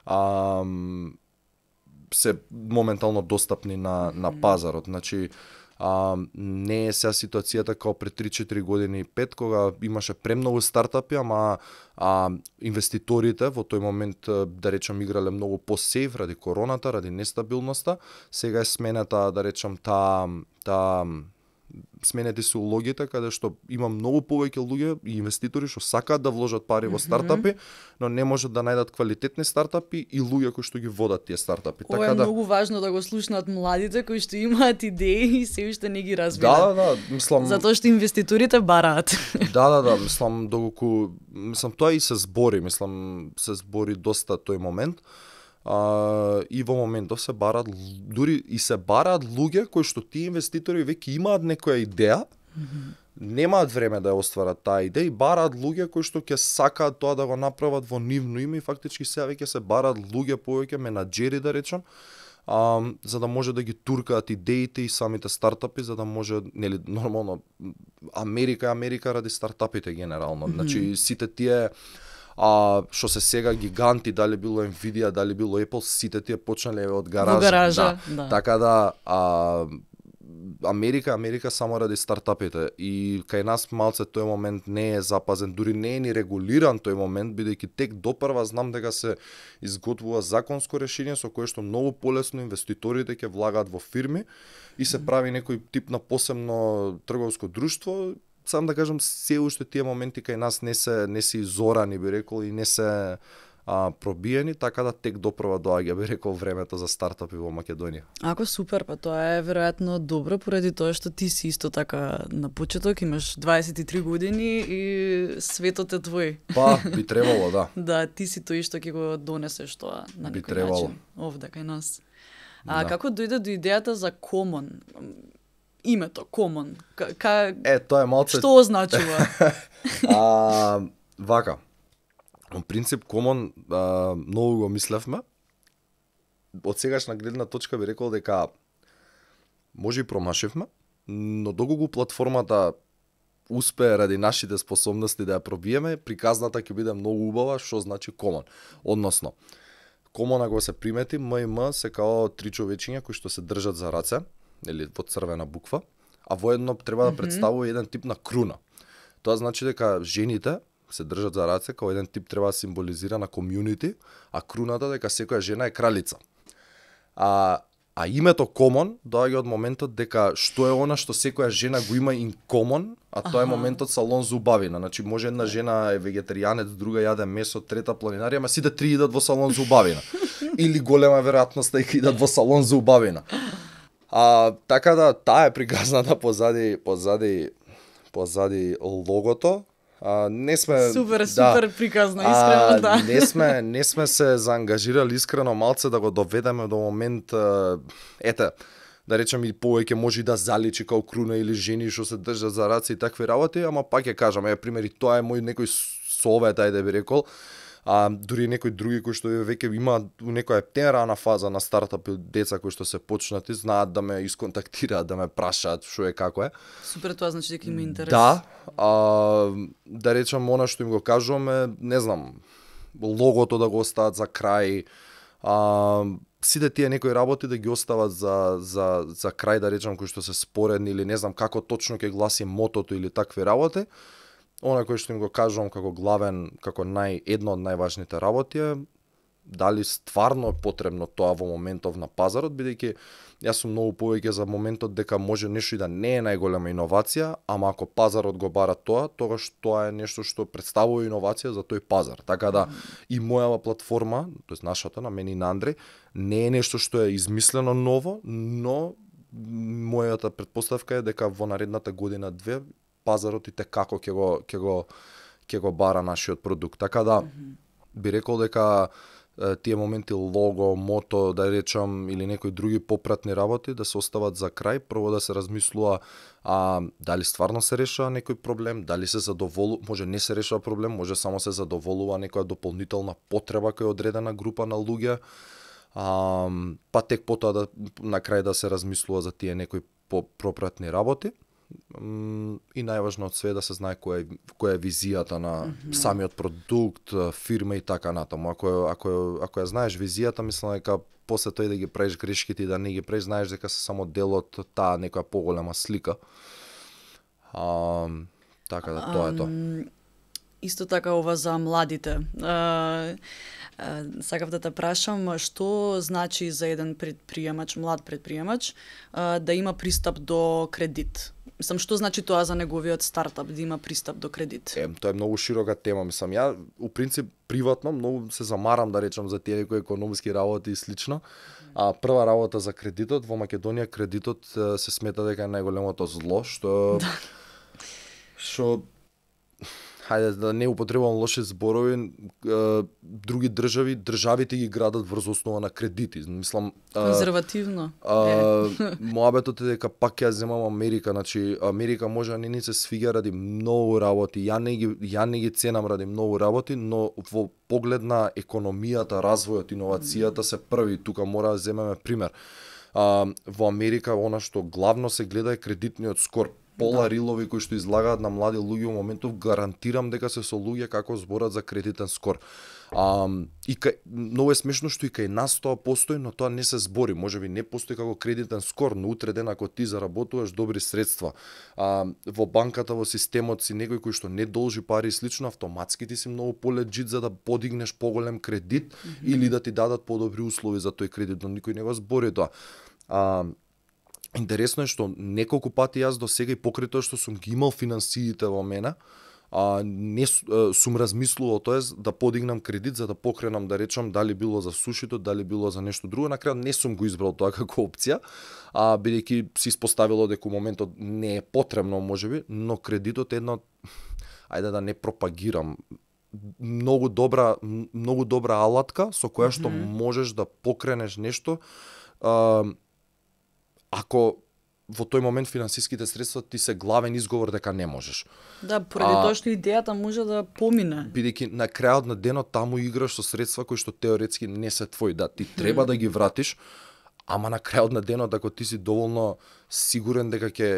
а, се моментално достапни на на пазарот. Значи а, не е сега ситуацијата како пред три-четири години и пет, кога имаше премногу стартапи, ама а, инвеститорите во тој момент, да речем, играле многу по-сейф ради короната, ради нестабилноста. Сега е смената, да речем, таа та, сменети се улогите, каде што има многу повеќе луѓе и инвеститори што сакаат да вложат пари во стартапи, но не можат да најдат квалитетни стартапи и луѓе кои што ги водат тие стартапи. Ова е да многу важно да го слушнат младите кои што имаат идеи и се уште не ги Да, развиваат. да, да, мислам Затоа што инвеститорите бараат. Да, да, да, мислам доколку мислам тоа и се збори, мислам се збори доста тој момент. А, и во моментов се бараат л- дури и се бараат луѓе кои што тие инвеститори веќе имаат некоја идеја, немаат време да ја остварат таа идеја и бараат луѓе кои што ќе сакаат тоа да го направат во нивно име и фактички сега веќе се бараат луѓе повеќе менаџери да речам, а, за да може да ги туркаат идеите и самите стартапи, за да може, нели, нормално, Америка е Америка ради стартапите генерално. Мгм. Значи, сите тие а што се сега гиганти, дали било Nvidia, дали било Apple, сите тие почнале од гаража. Во гаража, Да. да. Така да, а, Америка, Америка само ради стартапите и кај нас малце тој момент не е запазен, дури не е ни регулиран тој момент, бидејќи тек допрва знам дека се изготвува законско решение со кое што многу полесно инвеститорите ќе влагаат во фирми и се прави некој тип на посебно трговско друштво. Сам да кажам, се уште тие моменти кај нас не се не се изорани, би рекол, и не се а, пробиени, така да тек допрва доаѓа, би рекол, времето за стартапи во Македонија. Ако супер, па тоа е веројатно добро поради тоа што ти си исто така на почеток, имаш дваесет и три години и светот е твој. Па, би требало, да. Да, ти си тој што ќе го донесеш тоа на Би некој требало. начин овде кај нас. А Да. како дојде до идејата за Common? Името Common. Ка, ка... Е, тоа е малце... Што означува? а, вака. Во принцип, Common, а, многу го мислевме. Од сегашна гледна точка би рекол дека може и промашивме, но доколку платформата успее ради нашите способности да ја пробиеме, приказната ќе биде многу убава, што значи Common. Односно, Common, ако се примети, М и М се као три човечиња кои што се држат за раце, или во црвена буква, а воедно треба да представува еден тип на круна. Тоа значи дека жените се држат за раце, као еден тип треба да символизира на комјунити, а круната дека секоја жена е кралица. А, а името Common доаѓа од моментот дека што е она што секоја жена го има in common, а тоа е моментот салон за убавина. Значи може една жена е вегетаријанец, друга јаде месо, трета планинарија, ама сите три идат во салон за убавина. Или голема веројатност дека идат во салон за убавина. А, така да, таа е приказната позади, позади, позади логото. А, не сме Супер, да, супер приказна, искрено, да. Не сме, не сме се заангажирали искрено малце да го доведеме до момент, а, ете, да речем и повеќе може и да заличи као круна или жени што се држат за раце и такви работи, ама пак ќе кажам, е примери, тоа е мој некој совет, ајде би рекол. А дури некои други кои што веќе имаат у некоја тенрана фаза на стартапи, деца кои што се почнати, знаат да ме исконтактираат, да ме прашаат што е како е. Супер, тоа значи дека има интерес. Да, а, да речам, она што им го кажуваме, не знам, логото да го остават за крај, а, сите тие некои работи да ги остават за, за, за крај, да речам, кои што се споредни или не знам како точно ќе гласи мотото или такви работи. Она кој што им го кажувам како главен, како нај, едно од најважните работи е дали стварно е потребно тоа во моментов на пазарот, бидејќи јас сум многу повеќе за моментот дека може нешто и да не е најголема иновација, ама ако пазарот го бара тоа, тогаш тоа е нешто што представува иновација за тој пазар. Така да и мојава платформа, тоест нашата, на мене и на Андреј, не е нешто што е измислено ново, но мојата претпоставка е дека во наредната година две пазарот и те како ќе го ќе го ќе го бара нашиот продукт. Така да би рекол дека е, тие моменти лого, мото, да речам, или некои други попратни работи да се остават за крај, прво да се размислува а дали стварно се решава некој проблем, дали се задоволува, може не се решава проблем, може само се задоволува некоја дополнителна потреба која е одредена група на луѓе. А, па тек потоа да на крај да се размислува за тие некои попратни работи. И најважно од све да се знае која е, која е визијата на mm-hmm. самиот продукт, фирма и така натаму. Ако ако ако ја знаеш визијата, мислам дека после тој да ги правиш грешките и да не ги правиш, знаеш дека се само дел од таа некоја поголема слика. А, така да тоа е тоа. Um, исто така ова за младите. Uh, uh, сакав да те прашам што значи за еден предприемач, млад предприемач, uh, да има пристап до кредит. Мислам, што значи тоа за неговиот стартап, да има пристап до кредит? Е, тоа е многу широка тема, мислам. Ја, у принцип, приватно, многу се замарам, да речам, за тие некои економски работи и слично. А прва работа за кредитот, во Македонија кредитот се смета дека е најголемото зло, што... што... Хајде да не употребувам лоши зборови, други држави, државите ги градат врз основа на кредити. Мислам, конзервативно. А, моабетот е дека пак ја земам Америка, значи Америка може да не ни се свиѓа ради многу работи. Ја не ги ја не ги ценам ради многу работи, но во поглед на економијата, развојот, иновацијата се први. Тука мора да земеме пример. А, во Америка она што главно се гледа е кредитниот скор. пола Да. рилови кои што излагаат на млади луѓе во моментов, гарантирам дека се со луѓе како зборат за кредитен скор. А, и кај, многу е смешно што и кај нас тоа постои, но тоа не се збори. Можеби не постои како кредитен скор, но утре ден ако ти заработуваш добри средства, а, во банката, во системот си некој кој што не должи пари и слично, автоматски ти си многу поледжит за да подигнеш поголем кредит mm -hmm. или да ти дадат подобри услови за тој кредит, но никој не го збори тоа. А, интересно е што неколку пати јас до сега и покрај тоа што сум ги имал финансиите во мене, а, не сум размислувал тоа да подигнам кредит за да покренам, да речам, дали било за сушито, дали било за нешто друго. На крај не сум го избрал тоа како опција, а бидејќи се испоставило дека моментот не е потребно можеби, но кредитот е едно, ајде да не пропагирам, многу добра многу добра алатка со која што mm -hmm. можеш да покренеш нешто, а, ако во тој момент финансиските средства ти се главен изговор дека не можеш. Да, поради тоа што идејата може да помине. Бидејќи на крајот на денот таму играш со средства кои што теоретски не се твои, да, ти треба да ги вратиш, ама на крајот на денот ако ти си доволно сигурен дека ќе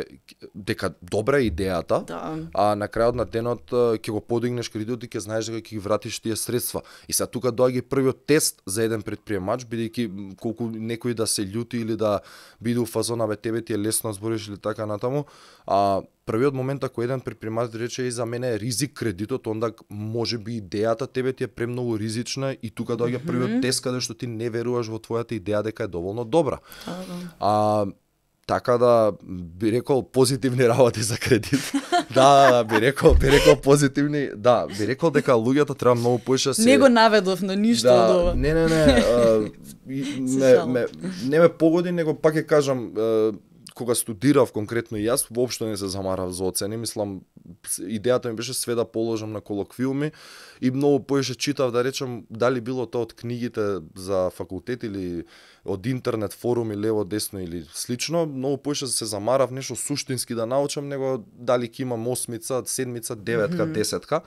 дека добра е идејата, да. а на крајот на денот ќе го подигнеш кредитот и ќе знаеш дека ќе ги вратиш тие средства. И сега тука доаѓа првиот тест за еден претприемач, бидејќи колку некој да се љути или да биде у фазона бе тебе ти е лесно збориш или така натаму, а првиот момент ако еден претприемач рече и за мене е ризик кредитот, онда можеби идејата тебе ти е премногу ризична и тука доаѓа mm -hmm. првиот тест каде што ти не веруваш во твојата идеја дека е доволно добра. Да, да. А така да би рекол позитивни работи за кредит. да, да, би рекол, би рекол позитивни, да, би рекол дека луѓето треба многу поише се. Не го наведов на ништо да, од ова. Не, не, не, а, ме, ме, не ме погоди, него пак ќе кажам, а, кога студирав конкретно и јас, воопшто не се замарав за оцени, мислам, идејата ми беше све да положам на колоквиуми и многу поише читав, да речем, дали било тоа од книгите за факултет или од интернет форуми лево десно или слично, многу поише се замарав нешто суштински да научам, него дали ќе имам осмица, седмица, деветка, десетка.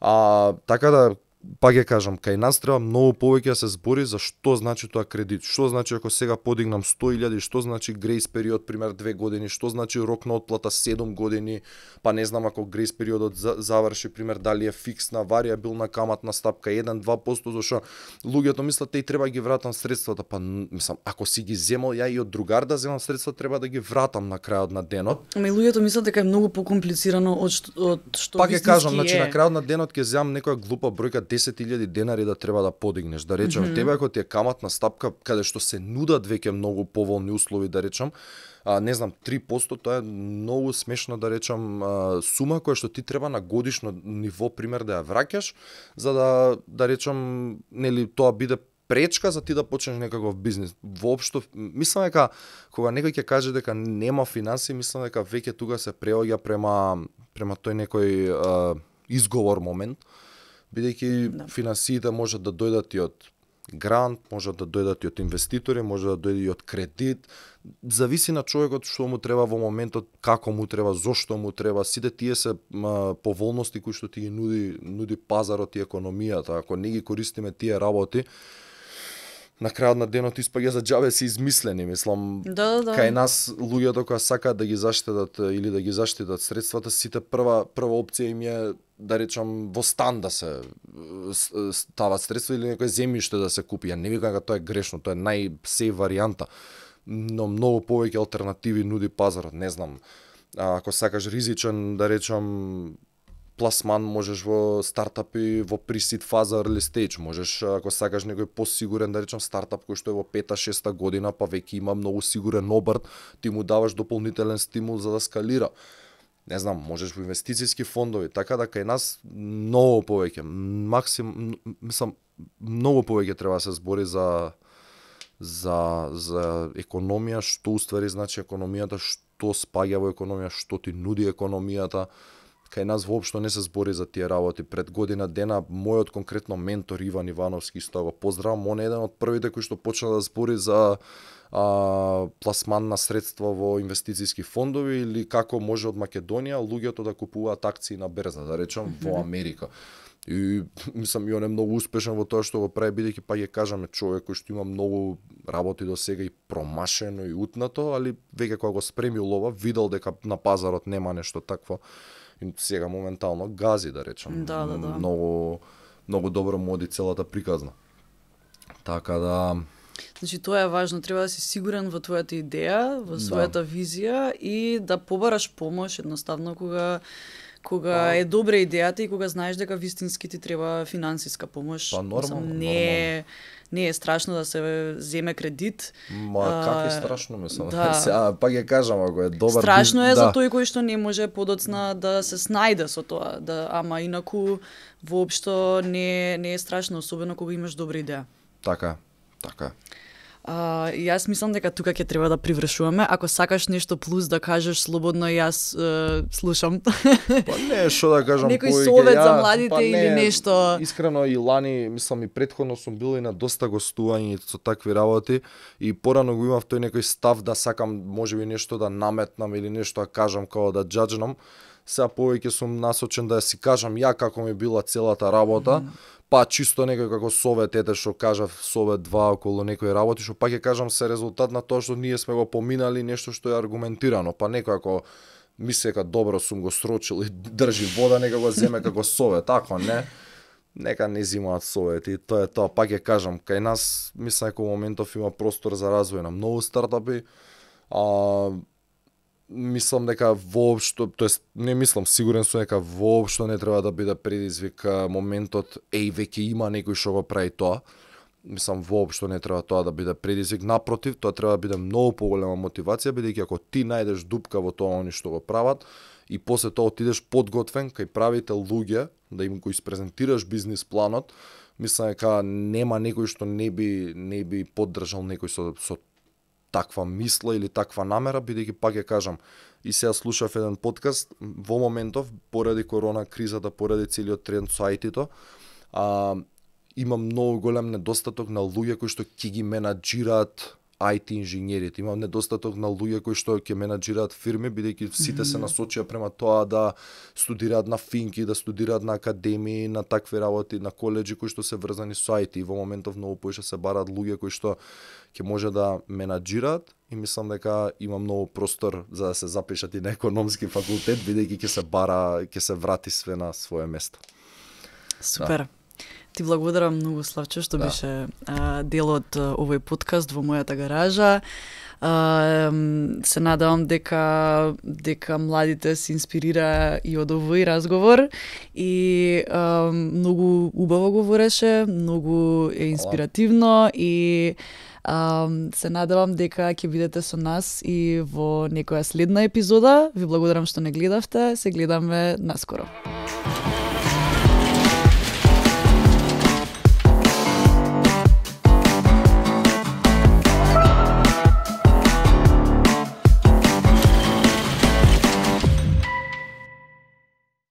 А така да пак ќе кажам, кај нас треба многу повеќе да се збори за што значи тоа кредит. Што значи ако сега подигнам сто илјади, што значи грејс период пример две години, што значи рок на отплата седум години, па не знам ако грејс периодот заврши пример дали е фиксна, варијабилна каматна стапка еден до два проценти, зашто луѓето мислат те и треба ги вратам средствата, па мислам ако си ги земал ја и од другар да земам средства треба да ги вратам на крајот на денот. Ама и луѓето мислат дека е многу покомплицирано од што од што пак ќе кажам, е. значи на крајот на денот ќе земам некоја глупа бројка десет илјади денари да треба да подигнеш. Да речем, mm -hmm. тебе ако ти е каматна стапка каде што се нудат веќе многу поволни услови, да речем, а, не знам, три проценти, тоа е многу смешно, да речем, а, сума која што ти треба на годишно ниво пример да ја враќаш, за да да речем, нели тоа биде пречка за ти да почнеш некаков бизнис. Воопшто мислам дека кога некој ќе каже дека нема финансии, мислам дека веќе тука се преоѓа према према тој некој а, изговор момент, бидејќи да. Финансиите можат да дојдат и од грант, можат да дојдат и од инвеститори, може да дојде и од кредит. Зависи на човекот што му треба во моментот, како му треба, зошто му треба. Сите тие се ма, поволности кои што ти ги нуди, нуди пазарот и економијата. Ако не ги користиме тие работи, на крајот на денот испаѓа за џабе се измислени, мислам. Да, да. Кај нас луѓето кои сакаат да ги заштедат или да ги заштитат средствата, сите прва прва опција им е да речам во стан да се стават средства или некој земјиште да се купи. Ја не викам дека тоа е грешно, тоа е најсеј варијанта. Но многу повеќе алтернативи нуди пазарот, не знам. А, ако сакаш ризичен, да речам, пласман, можеш во стартапи, во пресид фаза, early stage, можеш ако сакаш некој посигурен, да речем, стартап кој што е во пета-шеста година, па веќе има многу сигурен обрт, ти му даваш дополнителен стимул за да скалира. Не знам, можеш во инвестицијски фондови, така да кај нас многу повеќе, максим, мислам, многу повеќе треба да се збори за за за економија, што уствари значи економијата, што спаѓа во економија, што ти нуди економијата. Кај нас воопшто не се збори за тие работи. Пред година дена мојот конкретно ментор Иван Ивановски, што го поздравам, он е еден од првите кои што почна да збори за а, пласман на средства во инвестицијски фондови или како може од Македонија луѓето да купуваат акции на берза, да речем, во Америка. И мислам и он е многу успешен во тоа што го прави, бидејќи па ќе кажаме човек кој што има многу работи до сега и промашено и утнато, али веќе кога го спремил ова, видел дека на пазарот нема нешто такво и сега моментално гази, да речам. Да, да, да. Многу многу добро му оди целата приказна. Така да Значи тоа е важно, треба да си сигурен во твојата идеја, во својата да. визија и да побараш помош едноставно кога кога па, е добра идејата и кога знаеш дека вистински ти треба финансиска помош. Па нормално, не е, не е страшно да се земе кредит. Ма как е страшно, мислам. Да. Сега пак ја кажам, ако е добар. Страшно е да. за тој кој што не може подоцна да се снајде со тоа, да ама инаку воопшто не не е страшно, особено кога имаш добра идеја. Така, така. А, јас мислам дека тука ќе треба да привршуваме. Ако сакаш нешто плюс да кажеш слободно, јас е, слушам. Па не, што да кажам Некој повеќе, совет ја, за младите па не, или нешто. Искрено и лани, мислам и претходно сум бил и на доста гостувања со такви работи и порано го имав тој некој став да сакам можеби нешто да наметнам или нешто да кажам како да џаџнам. Сега повеќе сум насочен да си кажам ја како ми била целата работа. Mm. Па чисто некој како совет, ете што кажав, совет два околу некои работи, што пак ќе кажам се резултат на тоа што ние сме го поминали, нешто што е аргументирано, па некој ако мисли дека добро сум го срочил и држи вода, нека го земе како совет, ако не, нека не зимаат совети, тоа е тоа, пак ќе кажам, кај нас мислам дека во моментов има простор за развој на многу стартапи, а мислам дека воопшто, тоест не мислам, сигурен сум дека воопшто не треба да биде предизвик моментот еј веќе има некој што го прави тоа. Мислам воопшто не треба тоа да биде предизвик, напротив, тоа треба да биде многу поголема мотивација, бидејќи ако ти најдеш дупка во тоа они што го прават и после тоа отидеш подготвен кај правите луѓе, да им го испрезентираш бизнис планот, мислам дека нема некој што не би не би поддржал некој со со таква мисла или таква намера, бидејќи пак ја кажам, и сега слушав еден подкаст, во моментов, поради корона кризата, поради целиот тренд со ај ти-то, а, има многу голем недостаток на луѓе кои што ќе ги менаџираат ај ти инженерите. Има недостаток на луѓе кои што ќе менаџираат фирми, бидејќи сите се насочија према тоа да студираат на финки, да студираат на академии, на такви работи, на колеџи кои што се врзани со ај ти. И во моментов многу поише се бараат луѓе кои што ќе може да менаџираат и мислам дека има многу простор за да се запишат и на економски факултет, бидејќи ќе се бара, ќе се врати све на свое место. Супер. Да. Ти благодарам многу, Славчо, што да. беше а, дел од а, овој подкаст во мојата гаража. А, се надевам дека дека младите се инспирира и од овој разговор и а, многу убаво говореше, многу е инспиративно и а, се надевам дека ќе бидете со нас и во некоја следна епизода. Ви благодарам што не гледавте, се гледаме наскоро.